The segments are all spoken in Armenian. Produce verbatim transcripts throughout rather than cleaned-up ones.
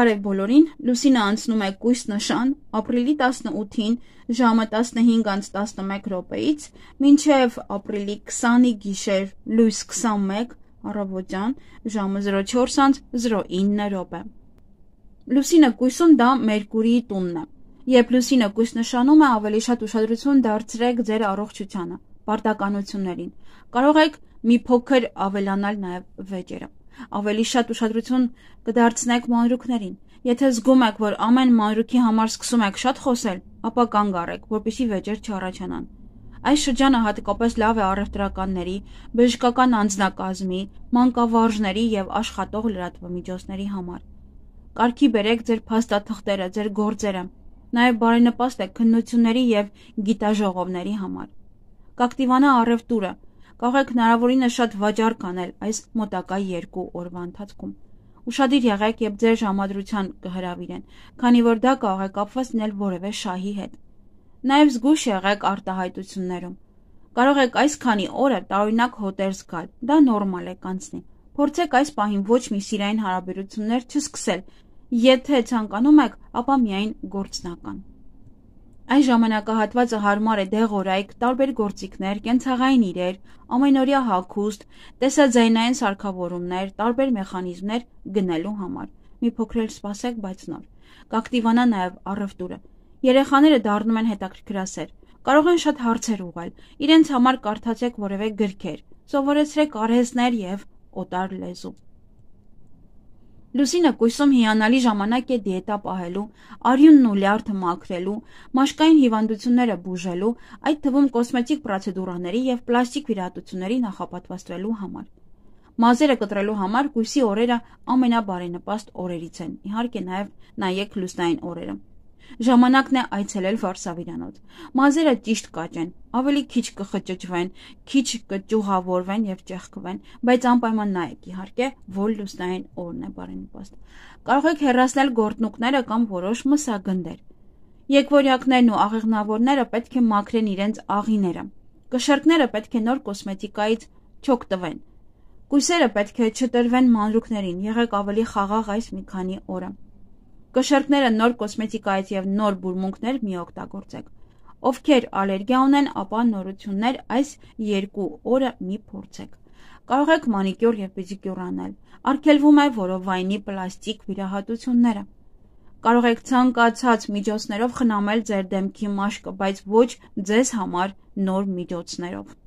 Բարև բոլորին, լուսինը անցնում է կույս նշան, ապրիլի տասնութին ժամը տասնհինգ անց տասնմեկ րոպեից, մինչև ապրիլի քսանի գիշեր լույս քսանմեկ առավոտյան ժամը զրո չորս անց զրո ինը րոպե։ Լուսինը կույսում դա Մերկուրիի տունն է։ Երբ լուսինը կույս նշանում է, ավելի շատ ուշադրություն դարձրեք ձեր առողջությանը, պարտականություններին։ Կարող եք մի փոքր ավելանալ նաև վեճերը։ Ավելի շատ ուշադրություն կդարձնեք մանրուքներին։ Եթե զգում եք, որ ամեն մանրուքի համար սկսում եք շատ խոսել, ապա կանգ առեք, որպեսզի վեճեր չառաջանան։ Այս շրջանը հատկապես լավ է առևտրականների, բժշկական անձնակազմի, մանկավարժների եւ աշխատող լրատվամիջոցների համար։ Կարգի բերեք ձեր փաստաթղթերը, ձեր գործերը, նաեւ բարենպաստ է քննությունների եւ գիտաժողովների համար։ Կակտիվանա առևտուրը։ Կարող եք հնարավորինս շատ վաճառք անել այս մոտակա երկու օրվա ընթացքում։ Ուշադիր եղեք, երբ ձեր ժամադրության կհրավիրեն, քանի որ դա կարող է կապված լինել որևէ շահի հետ։ Նաև զգույշ եղեք արտահայտություններում։ Կարող եք այս քանի օրը տարօրինակ հոտեր զգալ, դա նորմալ է, կանցնի։ Փորձեք այս պահին ոչ մի սիրային հարաբերություններ չսկսել, եթե ցանկանում եք, ապա միայն գործնական։ Այս ժամանակահատվածը հարմար է դեղորայք, տարբեր գործիքներ, կենցաղային իրեր, ամենօրյա հագուստ, տեսաձայնային սարքավորումներ, տարբեր մեխանիզմներ գնելու համար։ Մի փոքր էլ սպասեք, բայց նոր։ Կակտիվանա նաև առևտուրը։ Երեխաները դառնում են հետաքրքրասեր։ Կարող են շատ հարցեր ուղղել։ Իրենց համար կարդացեք որևէ գրքեր, սովորեցրեք արհեստներ եւ օտար լեզու։ Լուսինը կույսում հիանալի ժամանակ է դիետա պահելու, արյունն ու լյարդը մաքրելու, մաշկային հիվանդությունները բուժելու, այդ թվում կոսմետիկ պրոցեդուրաների եւ պլաստիկ վիրահատությունների նախապատրաստվելու համար։ Մազերը կտրելու համար կույսի օրերը ամենաբարենպաստ օրերից են։ Իհարկե նաեւ նայեք լուսնային օրերը։ Ժամանակն է այցելել վարսավիրանոց։ Մազերը ճիշտ կաճեն, ավելի քիչ կխճճվեն, քիչ կճյուղավորվեն եւ ճեղքվեն, բայց անպայման նայեք, իհարկե, որ լուսնային օրն է բարենպաստ։ Կարող եք հեռացնել գորտնուկները կամ որոշ մսագնդեր։ Եկվորյակներն ու աղեղնավորները պետք է մաքրեն իրենց աղիները։ Կշեռքները պետք է նոր կոսմետիկայից չօգտվեն։ Կույսերը պետք է չտրվեն մանրուքներին, եղեք ավելի խաղաղ այս մի քանի օրը։ Կշեռքները նոր կոսմետիկայից եւ նոր բուրմունքներ մի օգտագործեք։ Ովքեր ալերգիա ունեն, ապա նորություններ այս երկու օրը մի փորձեք։ Կարող եք մանիկյուր եւ պեդիկյուր անել։ Արգելվում է որովայնի պլաստիկ վիրահատությունները։ Կարող եք ցանկացած միջոցներով խնամել ձեր դեմքի մաշկը, բայց ոչ ձեզ համար նոր միջոցներով։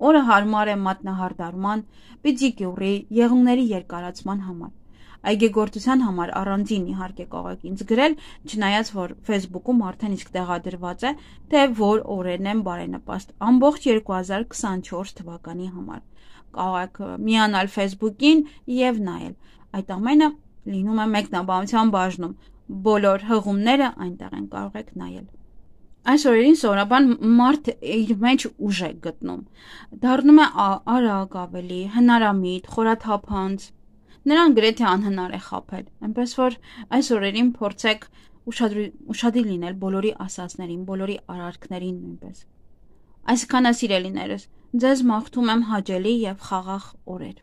Օրը հարմար է մատնահարդարման, պեդիկյուրի, եղունգների երկարացման համար։ Այգեգործության համար առանձին իհարկե կարող եք ինձ գրել, չնայած որ Facebook-ում արդեն իսկ տեղադրված է, թե որ օրերն են բարենպաստ ամբողջ երկու հազար քսանչորս թվականի համար։ Կարող եք միանալ Facebook-ին եւ նայել։ Այդ ամենը լինում է մեկնաբանության բաժնում։ Բոլոր հղումները այնտեղ են, կարող եք նայել։ Այս օրերին սովորաբար մարդ իր մեջ ուժ է գտնում։ Դառնում է արագ ավելի, հնարամիտ, խորաթափանց։ Նրան գրեթե անհնար է խաբել, այնպես որ այս օրերին փորձեք ուշադիր լինել բոլորի ասածներին, բոլորի արարքներին նույնպես։ Այսքանը սիրելիներս, ձեզ մաղթում եմ հաճելի եւ խաղաղ օրեր։